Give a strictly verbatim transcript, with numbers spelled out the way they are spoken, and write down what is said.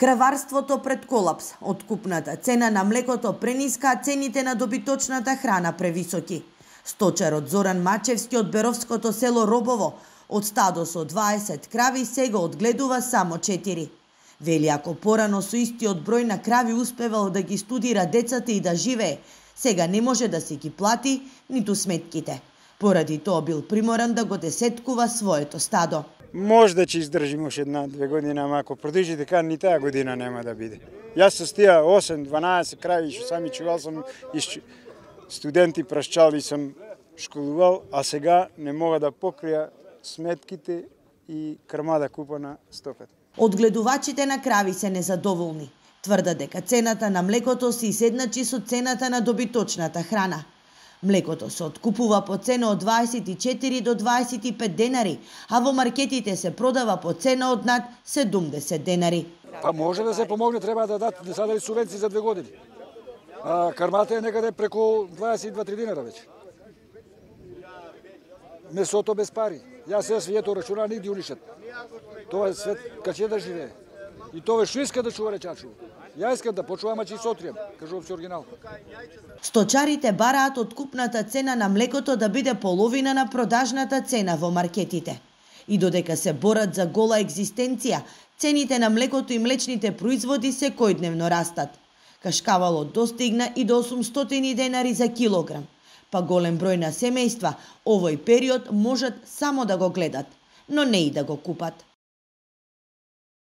Краварството пред колапс, откупната цена на млекото прениска, а цените на добиточната храна превисоки. Сточарот Зоран Мачевски од Беровското село Робово од стадо со дваесет крави сега одгледува само четири. Вели ако порано со истиот број на крави успевал да ги студира децата и да живее, сега не може да си ги плати ниту сметките. Поради тоа бил приморан да го десеткува своето стадо. Може да ќе издржим уште една-две години, ама ако продолжи така, ни таа година нема да биде. Јас со тие осем-дванаесет крави што сами чувал сум и студенти прашчали сум школувал, а сега не мога да покрија сметките и крма да купа на стоката. Одгледувачите на крави се незадоволни. Тврдат дека цената на млекото се иседначи со цената на добиточната храна. Млекото се откупува по цена од дваесет и четири до дваесет и пет денари, а во маркетите се продава по цена од над седумдесет денари. Па може да се помогне, треба да дадат да дадат субвенции за две години. А кармата е некаде преку дваесет и два-три динара веќе. Месото без пари. Јас се свието рачуна нигде унишет. Тоа е свет каќе да живее. И тоа што иска да чува речачу. Ја искам да почувам, а че сотријам, кажувам се оригинал. Сточарите бараат откупната цена на млекото да биде половина на продажната цена во маркетите. И додека се борат за гола екзистенција, цените на млекото и млечните производи секојдневно растат. Кашкавалот достигна и до осумстотини денари за килограм, па голем број на семејства овој период можат само да го гледат, но не и да го купат.